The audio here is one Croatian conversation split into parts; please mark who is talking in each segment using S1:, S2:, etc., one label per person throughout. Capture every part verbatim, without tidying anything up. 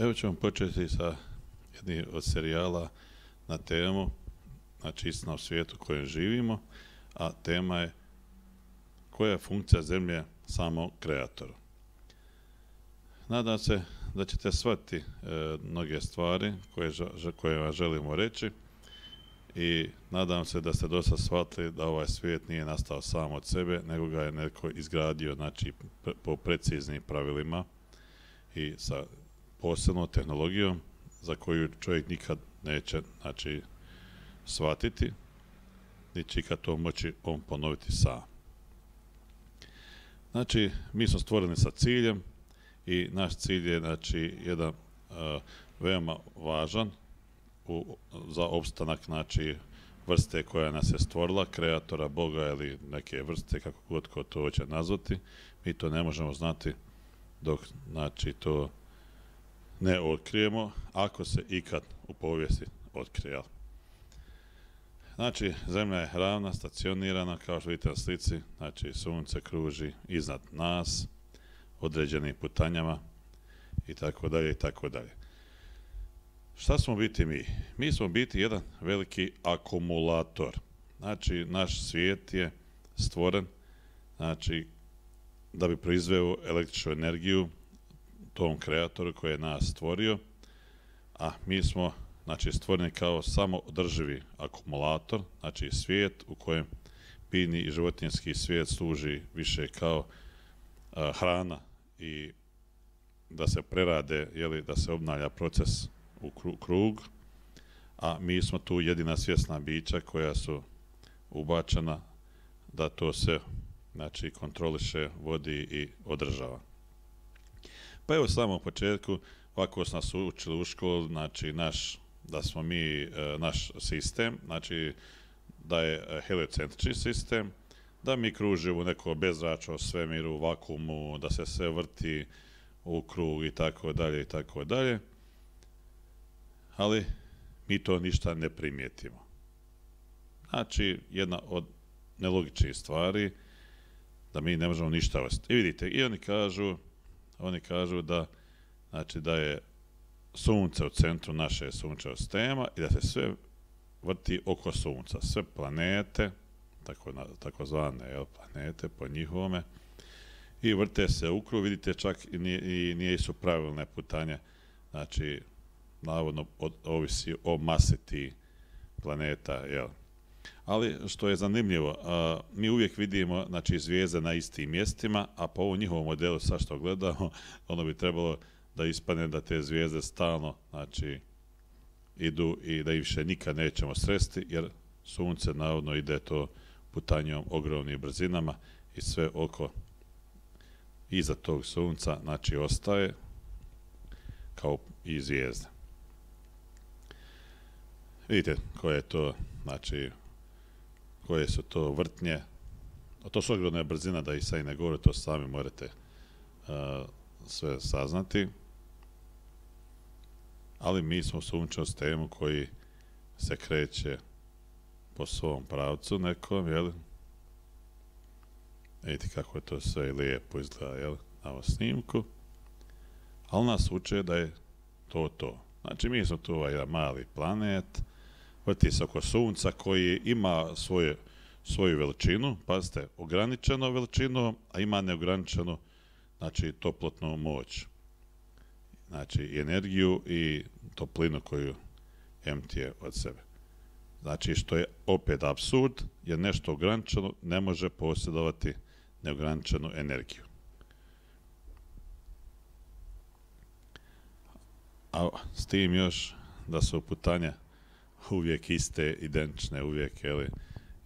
S1: Evo ćemo početi sa jednim od serijala na temu, znači istina o svijetu u kojem živimo, a tema je koja je funkcija zemlje samo kreatoru. Nadam se da ćete shvatiti e, mnoge stvari koje, koje vam želimo reći i nadam se da ste dosta shvatili da ovaj svijet nije nastao sam od sebe, nego ga je neko izgradio, znači, po preciznim pravilima i sa posebnom tehnologijom za koju čovjek nikad neće, znači, shvatiti, niti će ikad to moći on ponoviti sam. Znači, mi smo stvoreni sa ciljem i naš cilj je, znači, jedan uh, veoma važan u, za opstanak, znači, vrste koja nas je stvorila, kreatora, Boga ili neke vrste, kako god ko to hoće nazvati. Mi to ne možemo znati dok, znači, to ne otkrijemo, ako se ikad u povijesti otkrije. Znači, zemlja je ravna, stacionirana, kao što vidite na slici, znači sunce kruži iznad nas, određenim putanjama i tako dalje i tako dalje. Šta smo biti mi? Mi smo biti jedan veliki akumulator. Znači, naš svijet je stvoren, znači, da bi proizveo električnu energiju tom kreatoru koji je nas stvorio, a mi smo, znači, stvoreni kao samoodrživi akumulator, znači svijet u kojem biljni i životinjski svijet služi više kao a, hrana i da se prerade, jeli, da se obnavlja proces u krug, a mi smo tu jedina svjesna bića koja su ubačena da to se, znači, kontroliše, vodi i održava. Pa evo, u samom početku, ovako su nas učili u školu, znači, naš, da smo mi, naš sistem, znači, da je heliocentrični sistem, da mi kružimo u neko bezračno svemiru, vakuumu, da se sve vrti u krug i tako dalje i tako dalje, ali mi to ništa ne primijetimo. Znači, jedna od nelogičnih stvari da mi ne možemo ništa ostati. I vidite, i oni kažu, oni kažu da, znači, da je sunce u centru naše sunčevog sistema i da se sve vrti oko sunca. Sve planete, tako, tako zvane, jel, planete po njihovome, i vrte se u krug, vidite, čak i nije, i nije su pravilne putanje, znači, navodno od, ovisi o masi tih planeta, jel. Ali što je zanimljivo, a, mi uvijek vidimo, znači, zvijezde na istim mjestima, a po ovom njihovom modelu sad što gledamo, ono bi trebalo da ispadne da te zvijezde stalno, znači, idu i da ih više nikad nećemo sresti, jer sunce navodno ide to putanjom ogromnim brzinama i sve oko iza tog sunca, znači, ostaje kao i zvijezde. Vidite koje je to, znači, koje su to vrtnje, a to su ogromne brzina, da ih sad i ne govore, to sami morate uh, sve saznati. Ali mi smo u sunčevom sistemu koji se kreće po svom pravcu nekom, jel? Vidite kako je to sve lijepo izgleda, jel? Na ovom snimku. Ali nas uče da je to to. Znači, mi smo tu ovaj mali planet, vrti se oko sunca koji ima svoje, svoju veličinu, pazite, ograničenu veličinu, a ima neograničenu, znači, toplotnu moć. Znači, i energiju i toplinu koju emtije od sebe. Znači, što je opet apsurd, jer nešto ograničeno ne može posjedovati neograničenu energiju. A s tim još da su putanja uvijek iste, identične, uvijek, jeli,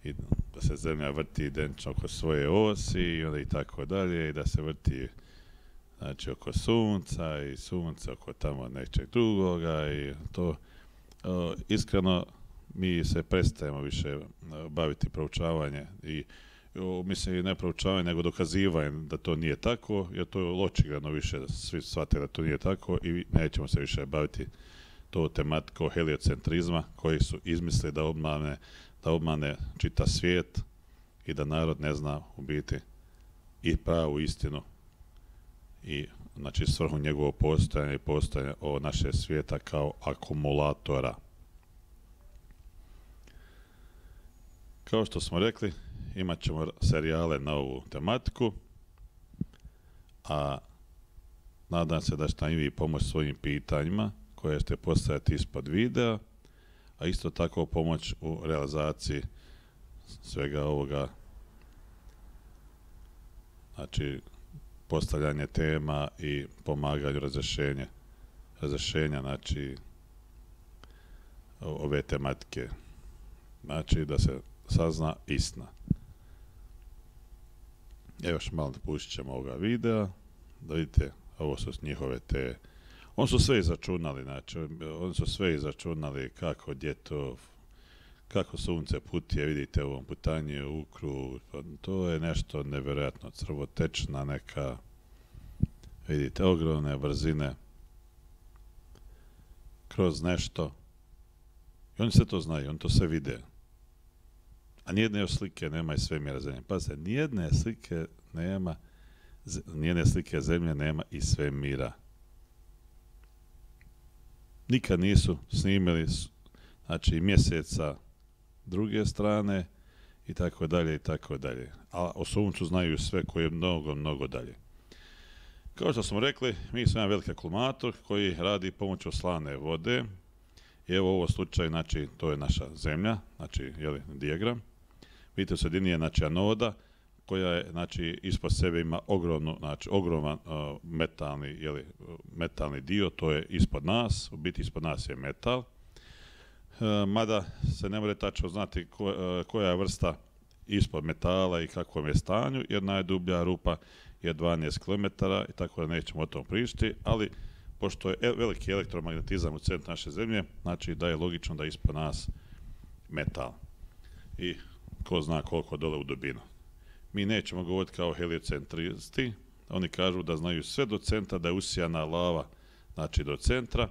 S1: i da se zemlja vrti identično oko svoje osi i onda i tako dalje, i da se vrti, znači, oko sunca i sunce oko tamo nečeg drugoga i to. O, iskreno, mi se prestajemo više baviti proučavanje i o, mislim, i ne proučavanje, nego dokazivanje da to nije tako, jer to je očigledno više da svi shvate da to nije tako i nećemo se više baviti to tematikom heliocentrizma koji su izmislili da obmane, da obmane čita svijet i da narod ne zna u biti i pravu istinu i znači svrhu njegovog postojanja i postojanja ovog našeg svijeta kao akumulatora. Kao što smo rekli, imat ćemo serijale na ovu tematiku, a nadam se da ćete i vi pomoći svojim pitanjima koje ćete postaviti ispod videa, a isto tako pomoć u realizaciji svega ovoga, znači postavljanje tema i pomaganju razrješenja, razrješenja znači ove tematike, znači da se sazna istina. Evo još malo pustit ćemo ovoga videa, da vidite, ovo su njihove te, oni su sve izračunali, znači, oni su sve izračunali kako, gdje to, kako sunce putuje, vidite u ovom putanju u krug, to je nešto nevjerojatno, crvotečna neka, vidite, ogromne brzine, kroz nešto, i oni sve to znaju, oni to sve vide. A nijedne još slike nema iz svemira zemlje. Pazite, nijedne slike nema, nijedne slike zemlje nema iz svemira. Nikad nisu snimili, znači, mjeseca druge strane i tako dalje i tako dalje. A o suncu znaju sve koje je mnogo, mnogo dalje. Kao što smo rekli, mi smo jedan veliki akumulator koji radi pomoću slane vode. I evo u ovom slučaju, znači, to je naša zemlja, znači, jeli, dijagram. Vidite, u sredini je, znači, anoda, koja je, znači, ispod sebe ima ogromnu, znači, ogroman uh, metalni, jeli, metalni dio, to je ispod nas, u biti ispod nas je metal. Uh, mada se ne može tačno znati ko, uh, koja je vrsta ispod metala i kakvom je stanju, jer najdublja rupa je dvanaest kilometara i tako da nećemo o tom pričati, ali pošto je veliki elektromagnetizam u centru naše zemlje, znači da je logično da je ispod nas metal. I ko zna koliko dole u dubinu. Mi nećemo govoriti kao heliocentristi, oni kažu da znaju sve do centra, da je usijana lava, znači do centra,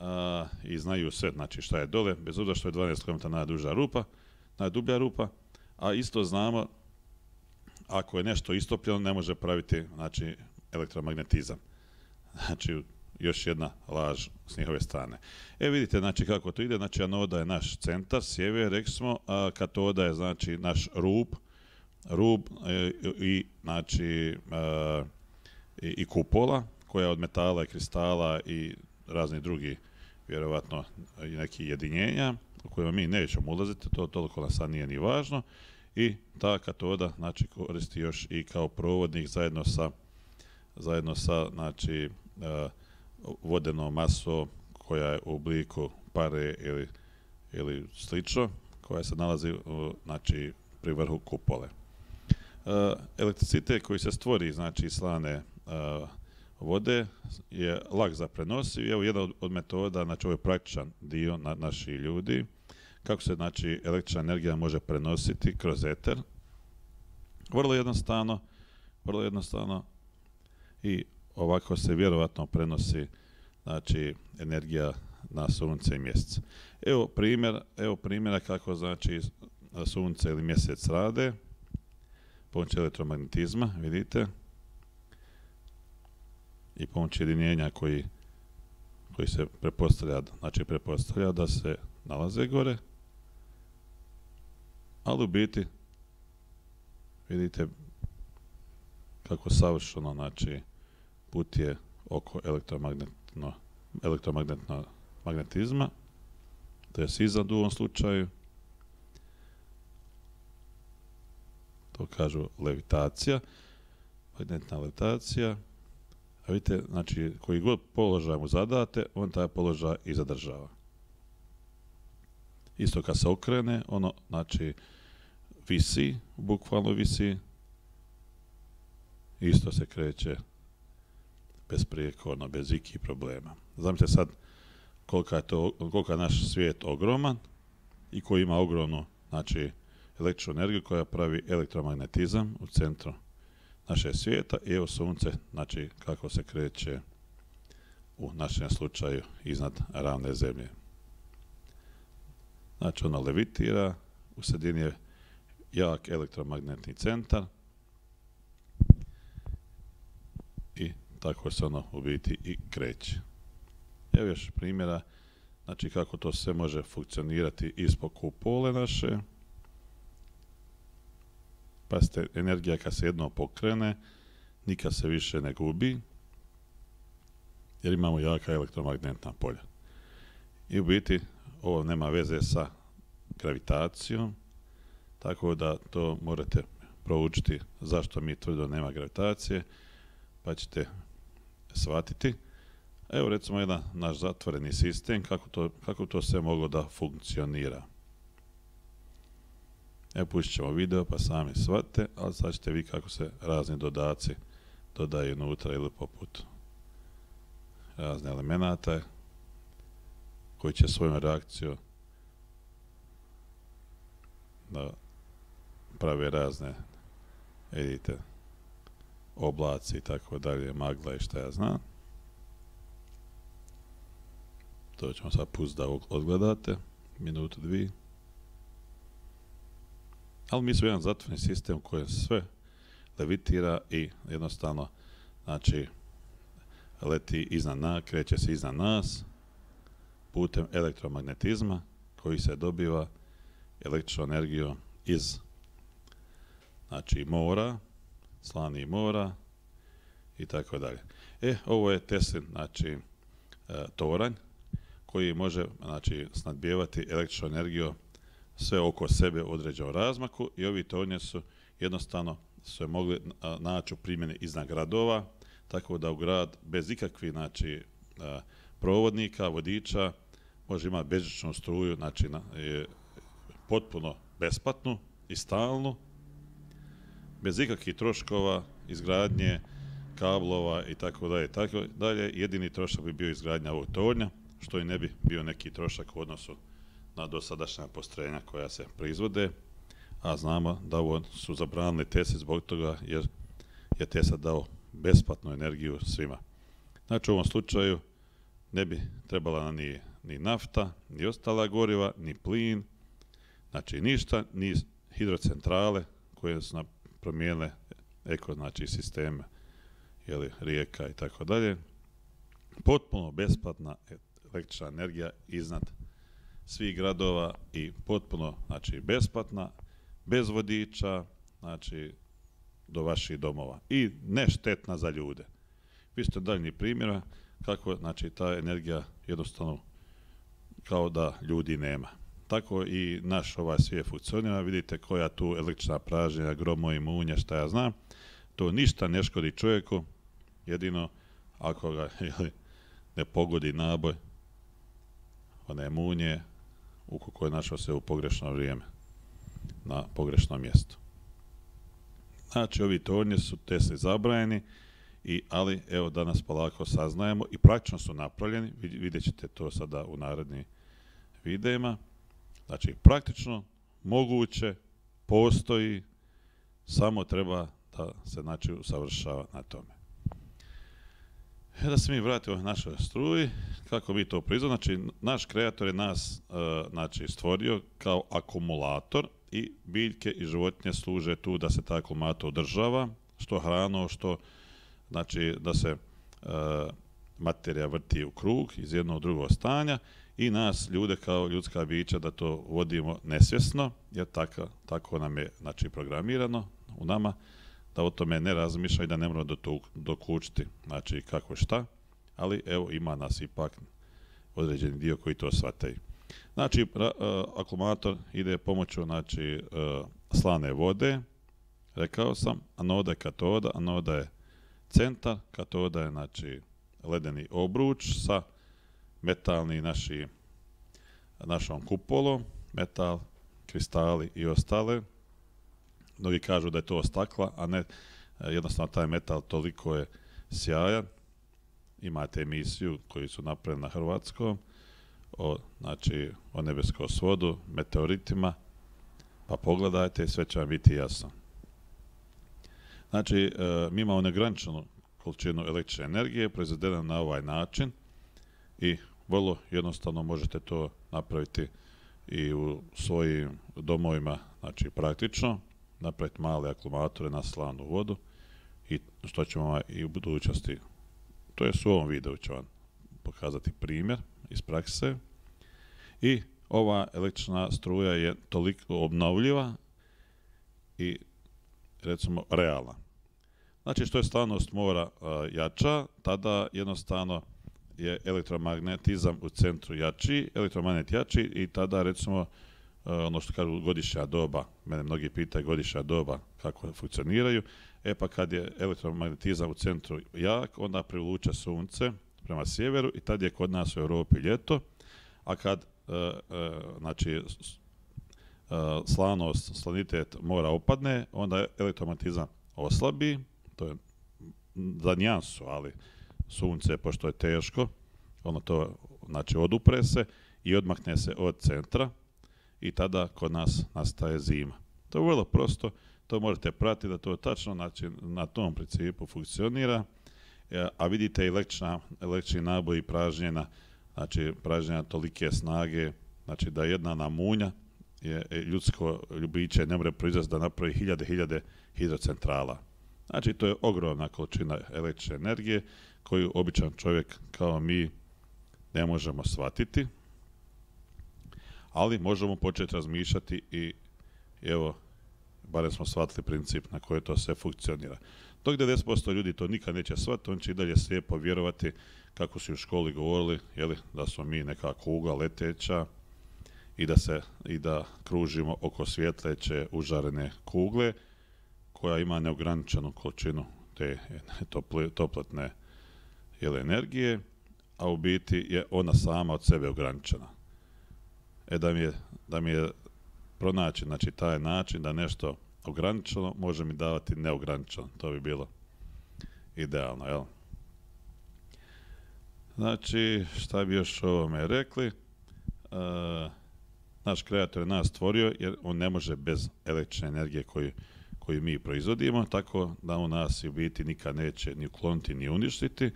S1: a, i znaju sve, znači šta je dole, bez obzira što je dvanaest kilometara najduža rupa, najdublja rupa, a isto znamo, ako je nešto istopljeno, ne može praviti, znači, elektromagnetizam. Znači, još jedna laž s njihove strane. E vidite, znači, kako to ide, znači, anoda je naš centar, sjever, rekli smo, a katoda je, znači, naš rub, rub e, i, znači, e, i, i kupola, koja je od metala i kristala i razni drugi, vjerovatno, i neki jedinjenja, u kojima mi nećemo ulaziti, to toliko nas sad nije ni važno, i ta katoda, znači, koristi još i kao provodnik zajedno sa, zajedno sa, znači, e, vodenom masom koja je u obliku pare ili, ili slično, koja se nalazi u, znači, pri vrhu kupole. E, elektricitet koji se stvori, znači, slane e, vode je lak za prenosiv. Evo jedna od, od metoda, znači ovo je praktičan dio na, naših ljudi, kako se, znači, električna energija može prenositi kroz eter. Vrlo jednostavno, vrlo jednostavno i ovako se vjerovatno prenosi, znači, energija na sunce i mjesec. Evo primjer, evo primjera kako, znači, sunce ili mjesec rade pomoću elektromagnetizma, vidite, i pomoću jedinjenja koji, koji se pretpostavlja, znači pretpostavlja da se nalaze gore, ali u biti vidite kako savršeno, znači, putuje oko elektromagnetno, elektromagnetno magnetizma, to je iznad u ovom slučaju, to kažu levitacija, magnetna levitacija, a vidite, znači, koji god položaj mu zadate, on taj položaj i zadržava. Isto kad se okrene, ono, znači, visi, bukvalno visi, isto se kreće besprijekorno, bez ikih problema. Zamislite sad koliko je, to, koliko je naš svijet ogroman i koji ima ogromnu, znači, električnu energiju koja pravi elektromagnetizam u centru našeg svijeta i evo sunce, znači, kako se kreće u našem slučaju iznad ravne zemlje. Znači, ono levitira, u sredini je jak elektromagnetni centar i tako se ono u biti i kreće. Evo još primjera, znači kako to sve može funkcionirati ispod kupole naše. Pazite, energija kad se jednom pokrene, nikad se više ne gubi, jer imamo jaka elektromagnetna polja. I u biti ovo nema veze sa gravitacijom, tako da to morate proučiti zašto mi tvrdo nema gravitacije, pa ćete shvatiti. Evo recimo jedan naš zatvoreni sistem, kako to, kako to sve moglo da funkcionira. Evo pustit ćemo video pa sami shvatite, ali sad ćete vi kako se razni dodaci dodaju unutra ili poput razne elemenata koji će svojom reakcijom da prave razne, vidite, oblaci i tako dalje, magla i šta ja znam. To ćemo sad pustiti da odgledate, minutu, dvije. Ali mi smo jedan zatvoreni sistem u kojem sve levitira i jednostavno, znači, leti iznad nas, kreće se iznad nas putem elektromagnetizma koji se dobiva električnom energijom iz, znači, mora, slanih mora i tako dalje. E, ovo je Teslin, znači, e, toranj koji može, znači, snadbijevati električnom energijom sve oko sebe u određenom razmaku i ovi tornje su jednostavno se mogli naći u primjeni iznad gradova, tako da u grad bez ikakvih, znači, a, provodnika, vodiča može imati bežičnu struju, znači na, je potpuno besplatnu i stalnu, bez ikakvih troškova, izgradnje, kablova i tako dalje, tako dalje. Jedini trošak bi bio izgradnja ovog tornja, što i ne bi bio neki trošak u odnosu na dosadašnja postrojenja koja se proizvode, a znamo da ovo su zabranili Tesli zbog toga jer je Tesla dao besplatnu energiju svima. Znači u ovom slučaju ne bi trebala ni, ni nafta, ni ostala goriva, ni plin, znači ništa, ni hidrocentrale koje su promijenile eko, znači sisteme, jeli, rijeka i tako dalje. Potpuno besplatna električna energija iznad svih gradova i potpuno, znači, besplatna, bez vodiča, znači, do vaših domova i ne štetna za ljude. Vi ste daljnji primjera kako, znači, ta energija jednostavno kao da ljudi nema. Tako i naš ovaj svijet funkcionira, vidite koja tu električna pražnjenja, gromovi, munje, šta ja znam, to ništa ne škodi čovjeku, jedino ako ga, jeli, ne pogodi naboj, one munje, ukoliko je našao se u pogrešno vrijeme, na pogrešnom mjestu. Znači, ovi tornji su Tesli zabranjeni, i, ali evo danas polako saznajemo i praktično su napravljeni, vidjet ćete to sada u narednim videima. Znači, praktično, moguće, postoji, samo treba da se, znači, usavršava na tome. E da se mi vratimo na našoj struji, kako mi to proizvodimo, znači naš kreator je nas e, znači, stvorio kao akumulator i biljke i životinje služe tu da se taj akumulator održava, što hrano, što, znači, da se e, materija vrti u krug iz jednog drugog stanja i nas ljude kao ljudska bića da to vodimo nesvjesno, jer tako, tako nam je, znači, programirano u nama, da o tome ne razmišlja i da ne moramo dokučiti, znači, kako šta, ali evo ima nas ipak određeni dio koji to shvataju. Znači, ra, uh, akumulator ide pomoću, znači, uh, slane vode, rekao sam, anoda je katoda, anoda je centar, katoda je, znači, ledeni obruč sa metalni naši, našom kupolom, metal, kristali i ostale. Mnogi kažu da je to stakla, a ne, jednostavno taj metal toliko je sjajan. Imate emisiju koju su napravili na hrvatskom, o, znači, o nebeskom svodu, meteoritima, pa pogledajte i sve će vam biti jasno. Znači, e, mi imamo neograničenu količinu električne energije proizvedena na ovaj način i vrlo jednostavno možete to napraviti i u svojim domovima, znači praktično, napraviti male akumulatore na slanu vodu i što ćemo i u budućnosti to je u ovom videu ću vam pokazati primjer iz prakse. I ova električna struja je toliko obnovljiva i recimo realna. Znači što je stvarnost mora uh, jača, tada jednostavno je elektromagnetizam u centru jači, elektromagnet jači i tada recimo uh, ono što kažu godišnja doba, mene mnogi pitaju godišnja doba kako funkcioniraju, e pa kad je elektromagnetizam u centru jak, onda privuče sunce prema sjeveru i tad je kod nas u Europi ljeto, a kad uh, uh, znači uh, slanost, slanitet mora opadne, onda elektromagnetizam oslabi, to je za nijansu, ali sunce, pošto je teško, ono to znači odupre se i odmakne se od centra i tada kod nas nastaje zima. To je vrlo prosto, to možete pratiti da to tačno znači, na tom principu funkcionira, a vidite i električna, električni naboj i pražnjena, znači pražnjena tolike snage, znači da jedna namunja je ljudsko ljubiće ne može proizvesti da napravi hiljade, hiljade hidrocentrala. Znači to je ogromna količina električne energije koju običan čovjek kao mi ne možemo shvatiti, ali možemo početi razmišljati i evo, barem smo shvatili princip na koji to sve funkcionira. Dok devedeset posto ljudi to nikad neće shvatiti, on će i dalje slijepo vjerovati kako su u školi govorili, jeli, da smo mi neka kugla leteća i da, se, i da kružimo oko svjetleće užarene kugle koja ima neograničenu količinu te toplotne jeli, energije, a u biti je ona sama od sebe ograničena. E da mi je, da mi je pronaći znači, taj način da nešto ograničeno može mi davati neograničeno. To bi bilo idealno, jel? Znači, šta bi još o ovome rekli? E, naš kreator je nas stvorio jer on ne može bez električne energije koju, koju mi proizvodimo, tako da on nas u biti nikad neće ni ukloniti ni uništiti,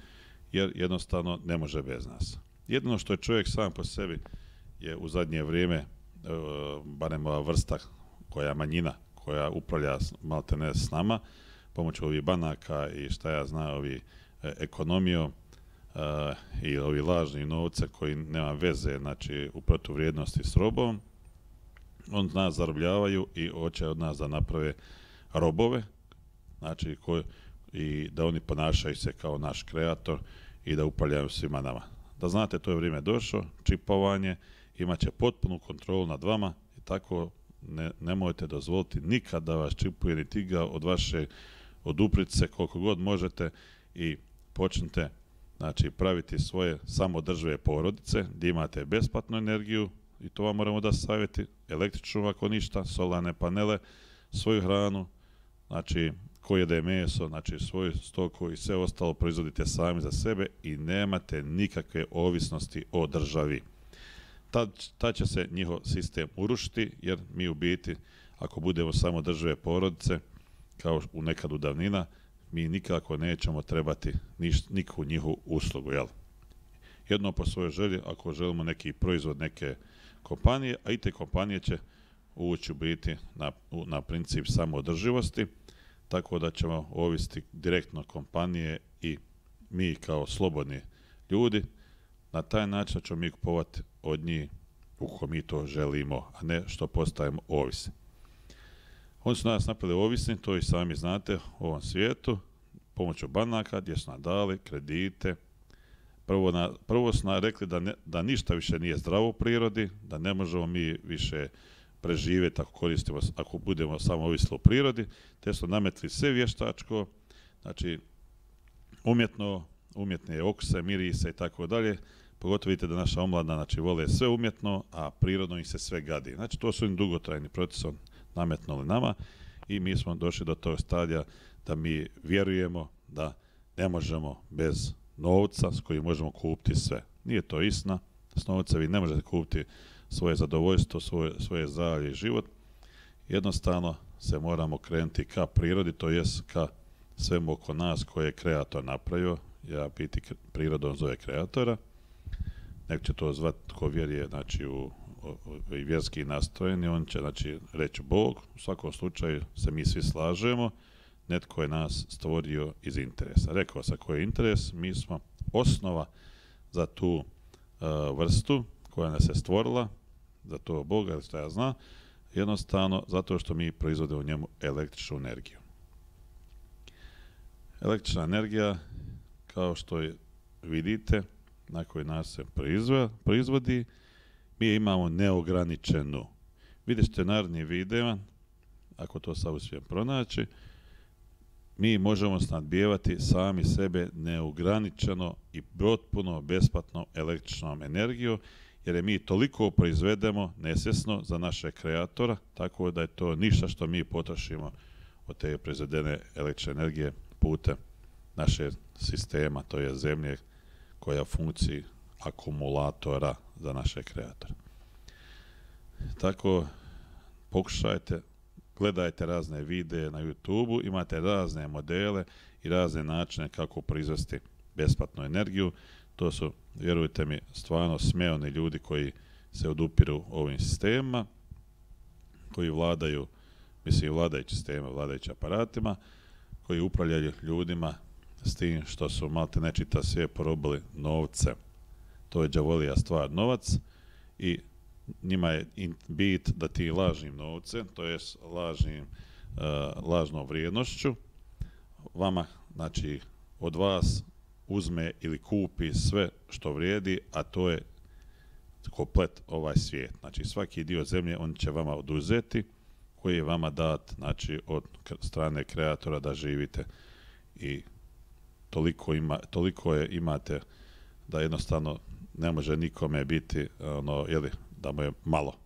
S1: jer jednostavno ne može bez nas. Jedino što je čovjek sam po sebi je u zadnje vrijeme, e, barem ova vrsta koja je manjina, koja upravlja maltene s nama, pomoću ovih banaka i šta ja znam, ovi e, ekonomijom e, i ovi lažni novce koji nema veze, znači u protuvrijednosti s robom, on nas zarobljavaju i hoće od nas da naprave robove, znači koji, i da oni ponašaju se kao naš kreator i da upravljaju svima nama. Da znate, to je vrijeme došlo, čipovanje, imat će potpunu kontrolu nad vama i tako ne, nemojte dozvoliti nikad da vas čipuje ni tiga od vaše oduprite se koliko god možete i počnite znači, praviti svoje samodržive porodice gdje imate besplatnu energiju i to vam moramo da savjeti, električnu ako ništa, solarne panele, svoju hranu, znači ko jede meso, znači svoju stoku i sve ostalo proizvodite sami za sebe i nemate nikakve ovisnosti o državi. Tad, tad će se njihov sistem urušiti, jer mi u biti, ako budemo samo države porodice, kao u nekad u davnina, mi nikako nećemo trebati niš, nikakvu njihovu uslugu, jel? Jedno po svojoj želji, ako želimo neki proizvod neke kompanije, a i te kompanije će ući u biti na, na princip samoodrživosti, tako da ćemo ovisiti direktno kompanije i mi kao slobodni ljudi, na taj način ćemo mi kupovati od njih uko mi to želimo, a ne što postajemo ovisni. Oni su nas napravili ovisni, to i sami znate u ovom svijetu, pomoću banaka gdje su nam dali kredite. Prvo, na, prvo su nam rekli da, ne, da ništa više nije zdravo u prirodi, da ne možemo mi više preživjeti ako koristimo, ako budemo samo ovisni o prirodi, te su nametli sve vještačko, znači umjetno, umjetne okuse, mirise i tako dalje. Pogotovo vidite da naša omladina znači, vole sve umjetno, a prirodno im se sve gadi. Znači to su im dugotrajni procesom nametnuli nama i mi smo došli do tog stadija da mi vjerujemo da ne možemo bez novca s kojim možemo kupiti sve. Nije to istina, s novca vi ne možete kupiti svoje zadovoljstvo, svoje, svoje zdravlje i život. Jednostavno se moramo krenuti ka prirodi, to jest ka svemu oko nas koje je kreator napravio. Ja biti prirodom zove kreatora. Nek će to zvati tko vjeruje znači, u, u, u vjerski nastrojeni, on će znači, reći Bog. U svakom slučaju se mi svi slažemo. Netko je nas stvorio iz interesa. Rekao sam koji je interes, mi smo osnova za tu uh, vrstu koja nas je stvorila, za to Boga ili što ja znam, jednostavno zato što mi proizvodimo u njemu električnu energiju. Električna energija, kao što je, vidite, na koji nas se proizvodi, mi je imamo neograničenu. Vidjet ćete naredni video, ako to sad uspijem pronaći, mi možemo snadbijevati sami sebe neograničeno i potpuno besplatno električnom energijom, jer je mi toliko proizvedemo nesvjesno za našeg kreatora, tako da je to ništa što mi potrošimo od te proizvedene električne energije putem našeg sistema, to je zemlje koja funkciji akumulatora za naše kreatore. Tako, pokušajte, gledajte razne videe na YouTube-u, imate razne modele i razne načine kako proizvesti besplatnu energiju. To su, vjerujte mi, stvarno smeoni ljudi koji se odupiru ovim sistemima, koji vladaju, mislim, vladajući sistema, vladajući aparatima, koji upravljaju ljudima s tim što su malte nečita sve porobili novce. To je đavolija stvar, novac, i njima je bit da ti lažnim novcem, to je lažnim, uh, lažnom vrijednošću, vama, znači, od vas uzme ili kupi sve što vrijedi, a to je komplet ovaj svijet. Znači, svaki dio zemlje on će vama oduzeti, koji je vama dat, znači, od strane kreatora da živite, i toliko, ima, toliko je imate da jednostavno ne može nikome biti ono, jeli, da mu je malo.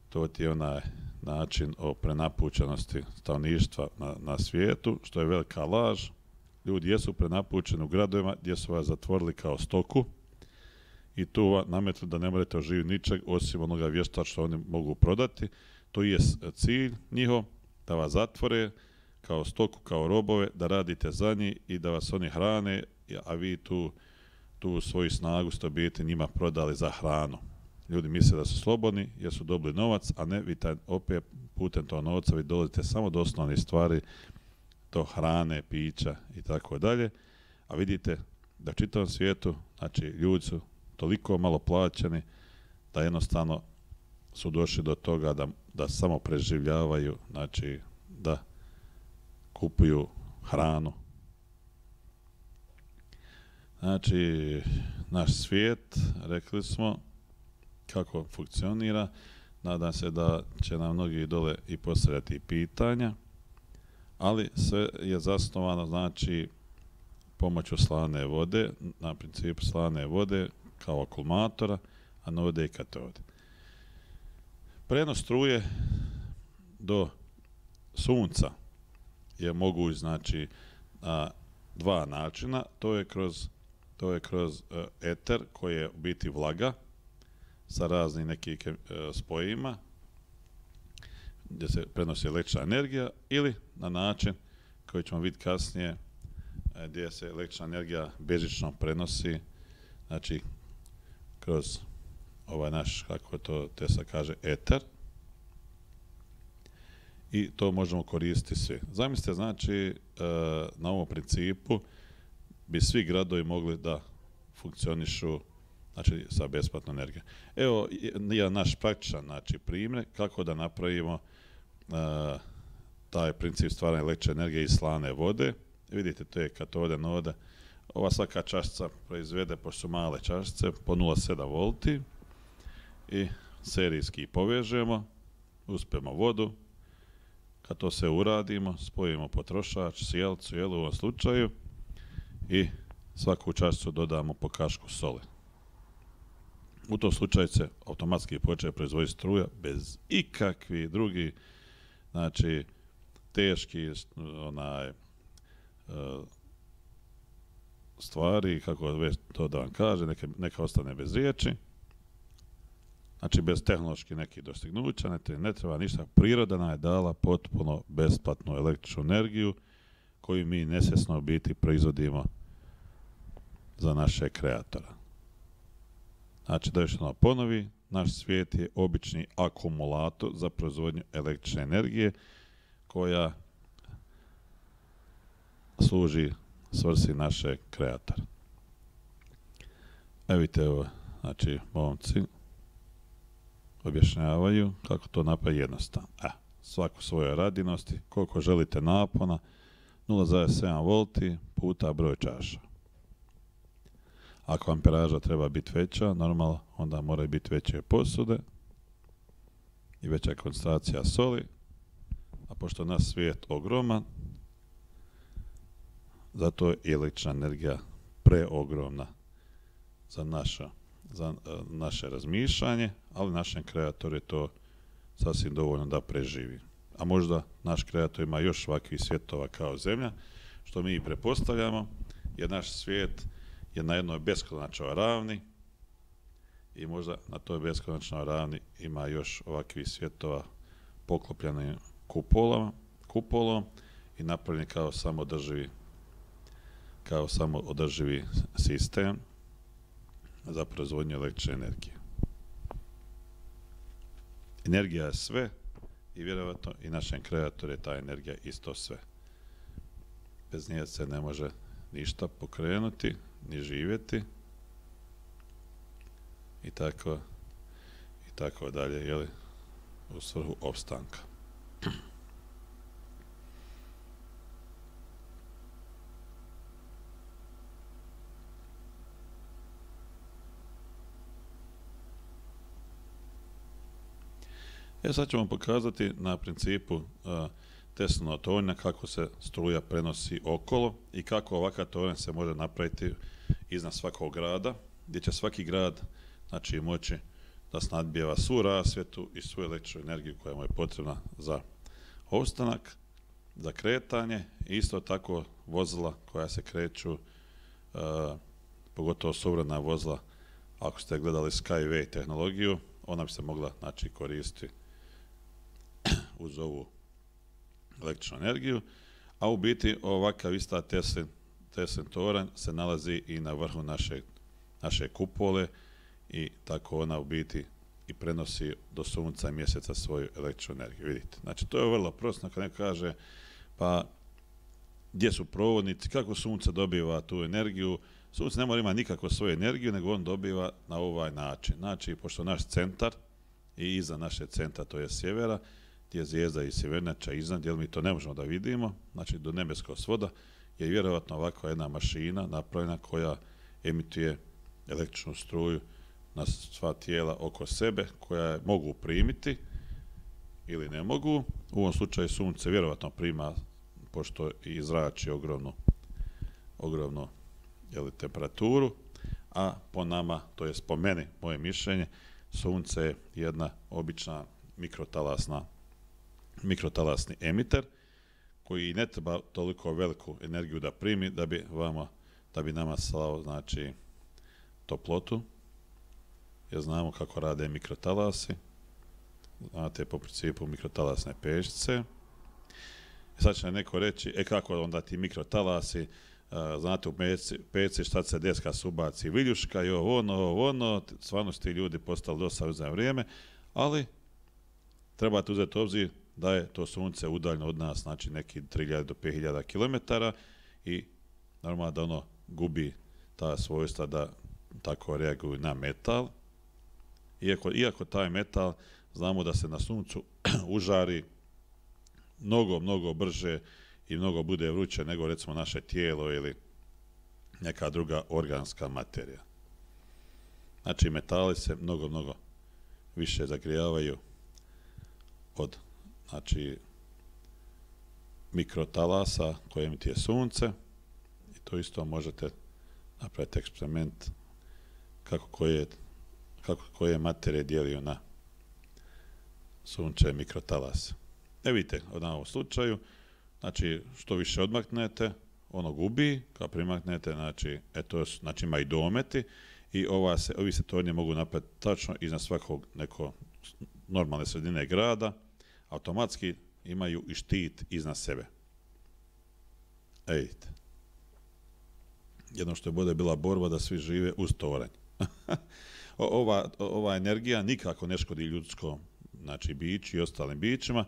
S1: To ti je onaj način o prenapučenosti stanovništva na, na svijetu, što je velika laž. Ljudi jesu prenapučeni u gradovima gdje su vas zatvorili kao stoku i tu vam nametnu da ne morate oživiti ničeg osim onoga vješta što oni mogu prodati. To je cilj njihov, da vas zatvore kao stoku, kao robove, da radite za njih i da vas oni hrane, a vi tu, tu svoju snagu ste biti njima prodali za hranu. Ljudi misle da su slobodni jer su dobili novac, a ne vi taj, opet putem tog novca vi dolazite samo do osnovnih stvari, do hrane, pića i tako dalje. A vidite da u čitavom svijetu, znači, ljudi su toliko malo plaćeni da jednostavno su došli do toga da, da samo preživljavaju, znači da kupuju hranu. Znači, naš svijet, rekli smo kako funkcionira. Nadam se da će nam mnogi dole i postavljati pitanja, ali sve je zasnovano, znači, pomoću slane vode, na principu slane vode kao akumulatora, anode i katode. Prenos struje do sunca je moguć, znači, na dva načina. To je kroz, to je kroz uh, eter, koji je u biti vlaga sa raznim nekim uh, spojima gdje se prenosi električna energija, ili na način koji ćemo vidjeti kasnije, uh, gdje se električna energija bežično prenosi, znači kroz ovaj naš, kako to Tesla kaže, eter, i to možemo koristiti svi. Zamislite, znači, na ovom principu bi svi gradovi mogli da funkcionišu, znači, sa besplatnom energijom. Evo jedan naš praktičan, znači, primjer kako da napravimo uh, taj princip stvaranja električne energije iz slane vode. Vidite, to je katode, anode. Ova svaka čašica proizvede, pošto su male čašice, po nula zarez sedam volti, i serijski povežemo, uspemo vodu. Kad to sve uradimo, spojimo potrošač, sjelcu, jel, u ovom slučaju, i svaku čašicu dodamo po kašku soli. U tom slučaju se automatski počne proizvoditi struja bez ikakvih drugih, znači, teški onaj, stvari, kako već to da vam kaže, neka, neka ostane bez riječi. Znači, bez tehnoloških nekih dostignuća, ne, ne treba ništa. Priroda nam je dala potpuno besplatnu električnu energiju koju mi nesvjesno u biti proizvodimo za naše kreatora. Znači, da još jednom ponovi, naš svijet je obični akumulator za proizvodnju električne energije koja služi svrsi našeg kreatora. Evo vidite, evo, znači, momci objašnjavaju kako to napraviti jednostavno. E, svako svoje radinosti, koliko želite napona, nula zarez sedam volti puta broj čaša. Ako amperaža treba biti veća, normalno, onda moraju biti veće posude i veća koncentracija soli, a pošto je naš svijet ogroman, zato je električna energija preogromna za, naša, za uh, naše razmišljanje, ali našem kreatoru je to sasvim dovoljno da preživi. A možda naš kreator ima još ovakvih svjetova kao Zemlja, što mi i prepostavljamo, jer naš svijet je na jednoj beskonačnoj ravni i možda na toj beskonačnoj ravni ima još ovakvih svjetova poklopljenim kupolama, kupolom i napravljen kao samodrživi kao samoodrživi sistem za proizvodnju električne energije. Energija je sve i vjerovatno i našem kreatoru je ta energija isto sve. Bez nje se ne može ništa pokrenuti, ni živjeti i tako i tako dalje, jeli, u svrhu opstanka. E sad ćemo pokazati na principu uh, Teslinog tornja kako se struja prenosi okolo i kako ovakav tornj se može napraviti iznad svakog grada, gdje će svaki grad, znači, moći da snadbijeva svu rasvjetu i svu električnu energiju koja mu je potrebna za opstanak, za kretanje i isto tako vozila koja se kreću, uh, pogotovo suvremena vozila. Ako ste gledali Skyway tehnologiju, ona bi se mogla, znači, koristiti uz ovu električnu energiju, a u biti ovakav ista Teslin, Teslin toranj se nalazi i na vrhu naše, naše kupole i tako ona u biti i prenosi do sunca i mjeseca svoju električnu energiju. Vidite, znači to je vrlo prosto kad neko kaže pa gdje su provodnici, kako sunce dobiva tu energiju. Sunce ne mora imati nikakvu svoju energiju, nego on dobiva na ovaj način. Znači, pošto naš centar i iza naše centra, to je sjevera, gdje je zvijezda i sjevernjača iznad, jer mi to ne možemo da vidimo, znači do nebeskog svoda, je vjerovatno ovakva jedna mašina napravljena koja emituje električnu struju na sva tijela oko sebe, koja je mogu primiti ili ne mogu. U ovom slučaju sunce vjerovatno prima, pošto i zrači ogromnu, ogromnu jeli, temperaturu, a po nama, to je po meni, moje mišljenje, sunce je jedna obična mikrotalasna, mikrotalasni emiter koji ne treba toliko veliku energiju da primi da bi, vama, da bi nama slao, znači, toplotu, jer znamo kako rade mikrotalasi, znate po principu mikrotalasne pećice. I sad će neko reći, e kako onda ti mikrotalasi, uh, znate u peci šta se deska se ubaci viljuška i ovo ono, ovo ono, stvarno su ti ljudi postali dosta za vrijeme, ali trebate uzeti obzir da je to sunce udaljno od nas, znači neki tri hiljade do pet hiljada kilometara i normalno da ono gubi ta svojstva da tako reaguju na metal. Iako, iako taj metal znamo da se na suncu užari mnogo, mnogo brže i mnogo bude vruće nego recimo naše tijelo ili neka druga organska materija. Znači metali se mnogo, mnogo više zagrijavaju od, znači, mikrotalasa koje emituje sunce i to isto možete napraviti eksperiment kako koje, kako koje materije dijelio na sunčeve mikrotalase. E vidite, na ovom slučaju, znači što više odmaknete, ono gubi, kao primaknete, znači, eto, znači ima i dometi i ova se, ovi se tornje mogu napraviti tačno iznad svakog neko normalne sredine grada, automatski imaju i štit iznad sebe. E vidite. Jedno što je bude bila borba da svi žive uz toranj. ova, ova energija nikako ne škodi ljudskom, znači biću i ostalim bićima,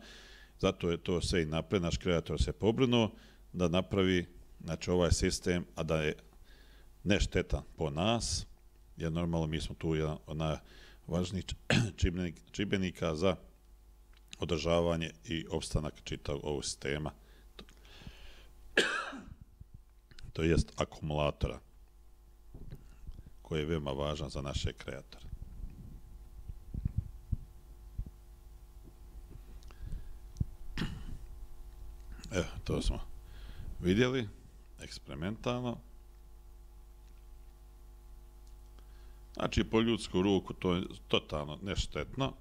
S1: zato je to sve i napred, naš kreator se pobrinuo da napravi, znači, ovaj sistem, a da je neštetan po nas, jer normalno mi smo tu jedan od najvažnijih čimbenika za održavanje i opstanak čitavog ovog sistema, to jest akumulatora, koji je veoma važan za naše kreatore. Evo, to smo vidjeli eksperimentalno. Znači, po ljudsku ruku to je totalno neštetno.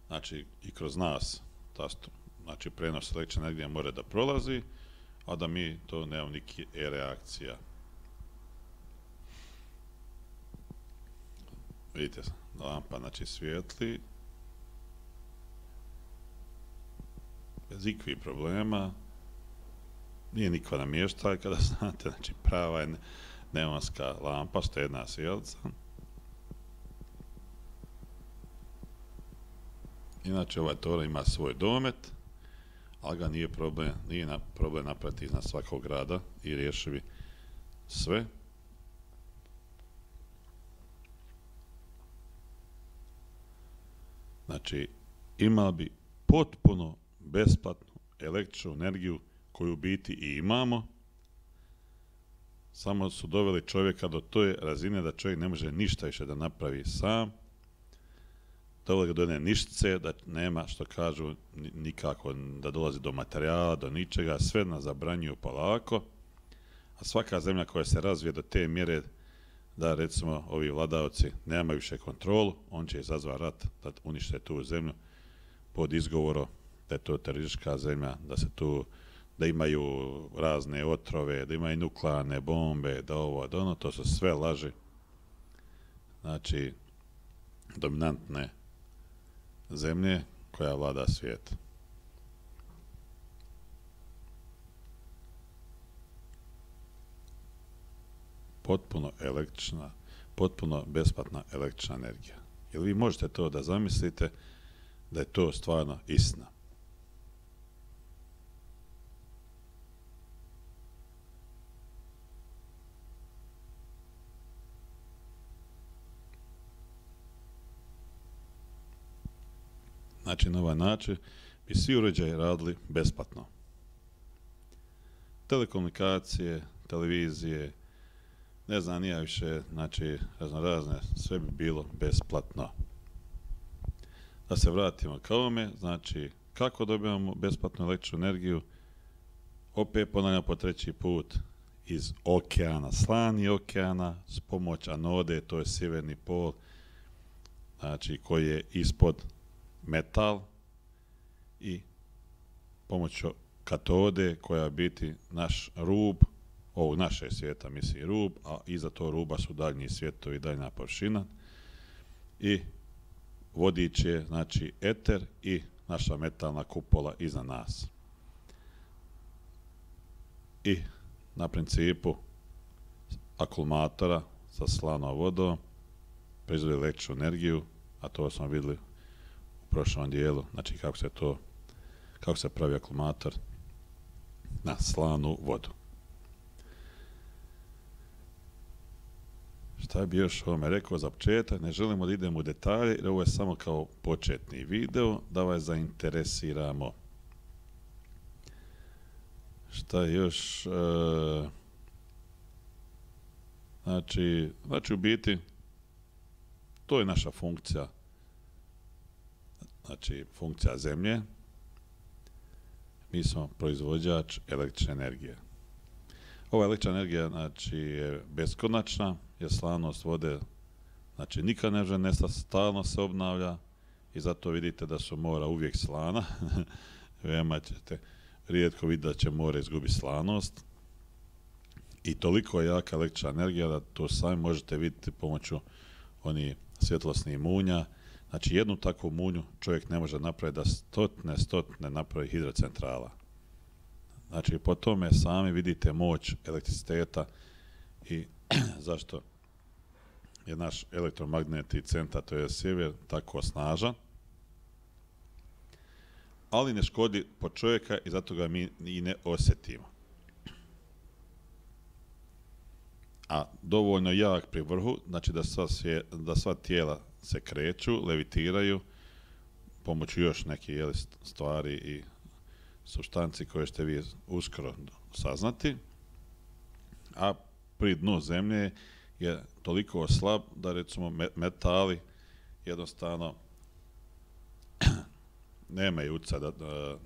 S1: Znači, i kroz nas, ta, znači, prenos električne energije mora da prolazi, a da mi to nemamo niki e-reakcija. Vidite, lampa, znači, svijetli. Bez ikvih problema. Nije niko namještaj, kada znate, znači, prava je neonska lampa, štedna svijelca. Inače, ovaj Toro ima svoj domet, ali ga nije problem, nije na, problem napraviti iznad svakog grada i riješivi sve. Znači, imali bi potpuno besplatnu električnu energiju koju u biti i imamo, samo su doveli čovjeka do toj razine da čovjek ne može ništa više da napravi sam, doveli ga do jedne ništice, da nema, što kažu, nikako da dolazi do materijala, do ničega, sve nas zabranjuju polako, a svaka zemlja koja se razvije do te mjere da, recimo, ovi vladavci nemaju više kontrolu, on će izazvati rat da unište tu zemlju pod izgovorom da je to teroristička zemlja, da se tu, da imaju razne otrove, da imaju nuklearne bombe, da ovo, da ono, to su sve laži. Znači, dominantne zemlje koja vlada svijet. Potpuno električna, potpuno besplatna električna energija. Jel vi možete to da zamislite da je to stvarno istina? Znači, na ovaj način bi svi uređaji radili besplatno. Telekomunikacije, televizije, ne znam, nije više, znači, razno razne, sve bi bilo besplatno. Da se vratimo ka ovome, znači, kako dobijamo besplatnu električnu energiju? Opet ponavljam po treći put, iz okeana, slani okeana, s pomoć anode, to je sjeverni pol, znači, koji je ispod metal, i pomoću katode koja biti naš rub, ovog naše svijeta misli rub, a iza to ruba su daljnji svijetovi, daljna površina, i vodič je, znači, eter i naša metalna kupola iza nas. I na principu akumulatora sa slanom vodom proizvodi električnu energiju, a to smo vidjeli u prošlom dijelu, znači kako se to, kako se pravi akumulator na slanu vodu. Šta bi još ovome rekao za početak? Ne želimo da idemo u detalje, jer ovo je samo kao početni video, da vas zainteresiramo. Šta još? E, znači, znači, u biti, to je naša funkcija, znači, funkcija zemlje. Mi smo proizvođač električne energije. Ova električna energija, znači, je beskonačna, jer slanost vode, znači, nikad ne može nestati, stalno se obnavlja, i zato vidite da su mora uvijek slana. Veoma ćete rijetko vidjeti da će more izgubiti slanost. I toliko je jaka električna energija da to sami možete vidjeti pomoću onih svjetlosnih munja. Znači, jednu takvu munju čovjek ne može napraviti da stotne, stotne napravi hidrocentrala. Znači, po tome sami vidite moć elektriciteta i zašto je naš elektromagnetni centar, to je sjever, tako snažan. Ali ne škodi po čovjeka i zato ga mi i ne osjetimo. a dovoljno jak pri vrhu, znači da sva, svije, da sva tijela se kreću, levitiraju, pomoću još neke jeli, stvari i supstanci koje ćete vi uskoro saznati, a pri dnu zemlje je toliko slab da recimo metali jednostavno nemaju utjecaja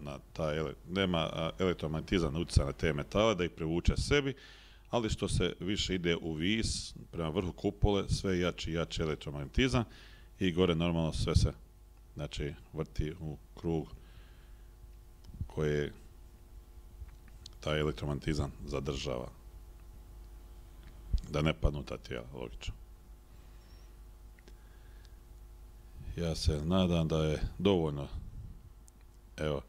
S1: na taj, nema elektromagnetizam utjecaja na te metale da ih privuče sebi, ali što se više ide u vis, prema vrhu kupole, sve jači i jači elektromagnetizam i gore normalno sve se znači, vrti u krug koje taj elektromagnetizam zadržava. Da ne padnu ta tijela, logično. Ja se nadam da je dovoljno, evo,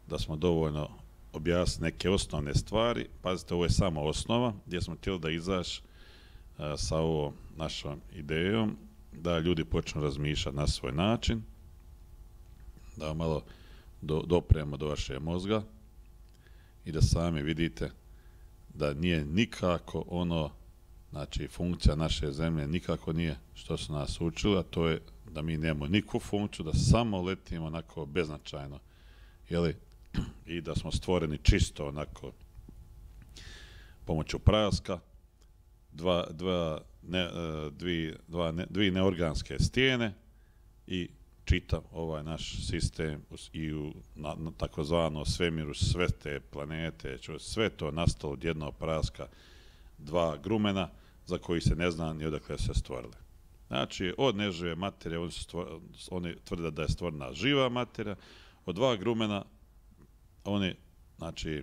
S1: da smo dovoljno objasnili neke osnovne stvari. Pazite, ovo je samo osnova gdje smo htjeli da izaš a, sa ovom našom idejom, da ljudi počnu razmišljati na svoj način, da malo do, dopremo do vašeg mozga i da sami vidite da nije nikako ono, znači funkcija naše zemlje nikako nije što su nas učili, a to je da mi nemamo nikakvu funkciju, da samo letimo onako beznačajno, jeli, i da smo stvoreni čisto onako pomoću praska, dva, dva, ne, dvi, dva ne, dvi neorganske stijene i čitav ovaj naš sistem i u na, na takozvano svemiru, sve te planete, sve to nastalo od jednog praska, dva grumena za koji se ne zna ni odakle se stvorile. Znači, od nežive materije, oni, stvor, oni tvrde da je stvorena živa materija, od dva grumena oni, znači,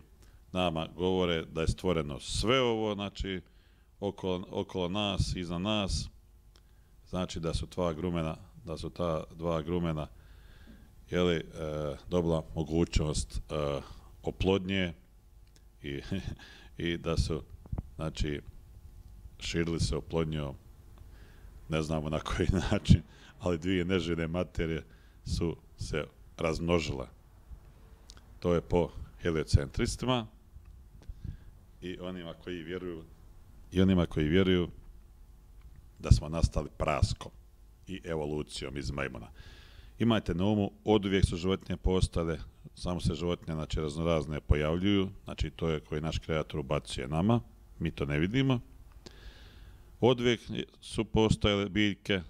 S1: nama govore da je stvoreno sve ovo, znači, okolo, okolo nas, iza nas, znači da su dva grumena, da su ta dva grumena, jeli, e, dobila mogućnost e, oplodnje i, i da su, znači, širili se oplodnjom, ne znamo na koji način, ali dvije neživne materije su se razmnožile. To je po heliocentristima i onima koji vjeruju i onima koji vjeruju da smo nastali praskom i evolucijom iz majmuna. Imajte na umu, oduvijek su životinje postale, samo se životinje, znači, raznorazne pojavljuju, znači to je koji naš kreator ubacuje nama, mi to ne vidimo. Oduvijek su postojale biljke,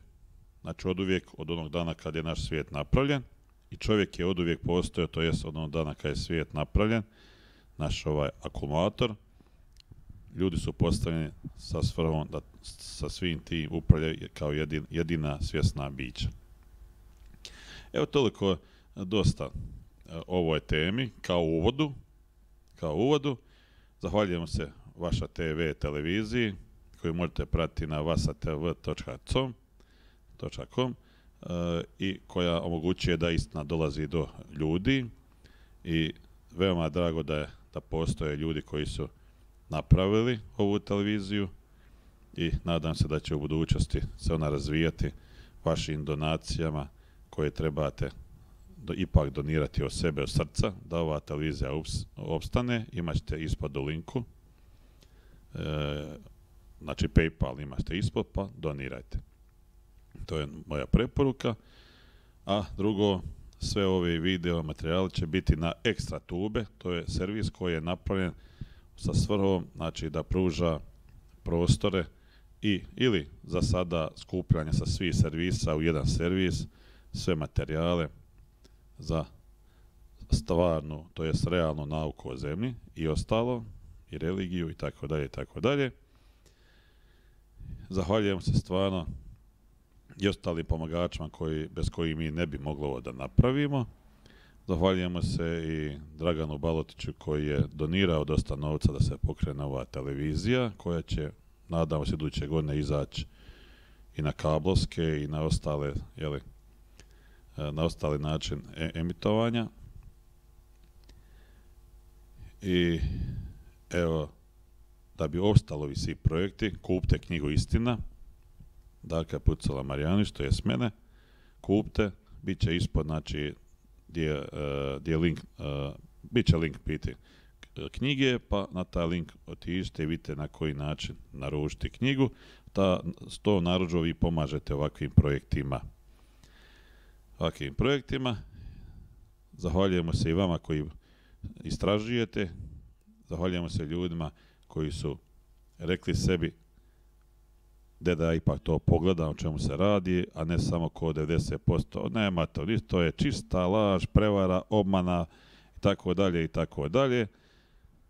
S1: znači oduvijek od onog dana kad je naš svijet napravljen, i čovjek je oduvijek postojao, to jest od onog dana kad je svijet napravljen, naš ovaj akumulator. Ljudi su postavljeni sa svrhom da sa svim tim upravljaju kao jedin, jedina svjesna bića. Evo toliko dosta o ovoj temi kao uvodu. Kao uvodu. Zahvaljujemo se vaša te ve televiziji koju možete pratiti na vasatv točka com uh, i koja omogućuje da istina dolazi do ljudi i veoma drago da je da postoje ljudi koji su napravili ovu televiziju i nadam se da će u budućnosti se ona razvijati vašim donacijama koje trebate do, ipak donirati od sebe, od srca, da ova televizija ups, opstane. Imaćete ispod u linku, e, znači PayPal imate ispod, pa donirajte. To je moja preporuka. A drugo, sve ove video materijali će biti na Ekstra Tube, to je servis koji je napravljen sa svrhom, znači da pruža prostore i ili za sada skupljanje sa svih servisa u jedan servis, sve materijale za stvarnu, to jest realnu nauku o zemlji i ostalo, i religiju i tako dalje i tako dalje. Zahvaljujem se stvarno i ostalim pomagačima koji, bez kojih mi ne bi mogli ovo da napravimo. Zahvaljujemo se i Draganu Balotiću koji je donirao dosta novca da se pokrene ova televizija koja će, nadamo se, iduće godine izaći i na kablovske i na ostale, jeli, na ostali način e emitovanja. I evo, da bi ostalo ovi svi projekti, kupite knjigu Istina Darka Pucala Marijanić, to je s mene, kupite, bit će ispod, znači, gdje je link, uh, bit će link piti knjige, pa na taj link otiđite i vidite na koji način naručiti knjigu. Ta, s to narudžbom vi pomažete ovakvim projektima. Ovakvim projektima. Zahvaljujemo se i vama koji istražujete. Zahvaljujemo se ljudima koji su rekli sebi da da ipak to pogledam o čemu se radi, a ne samo ko devedeset posto. Nema to, to je čista laž, prevara, obmana i tako dalje i tako dalje.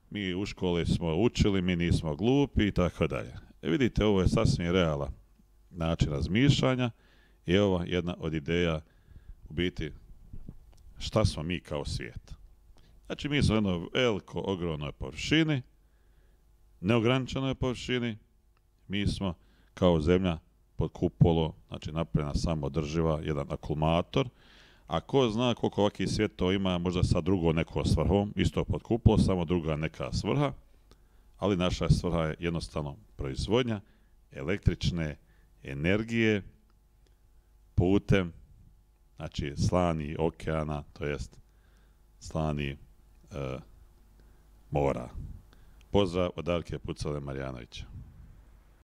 S1: Mi u školi smo učili, mi nismo glupi i tako dalje. E vidite, ovo je sasvim realan način razmišljanja i ovo je jedna od ideja u biti šta smo mi kao svijet. Znači mi smo u jednoj veliko, ogromnoj površini, neograničenoj površini, mi smo kao zemlja pod kupolom, znači napravljena samodrživa, jedan akumulator, a ko zna koliko ovakvih svjetova ima, možda sa drugom nekom svrhom, isto pod kupolom, samo druga neka svrha, ali naša svrha je jednostavno proizvodnja električne energije putem, znači slani okeana, to jest slani e, mora. Pozdrav od Darke Pucale Marjanovića.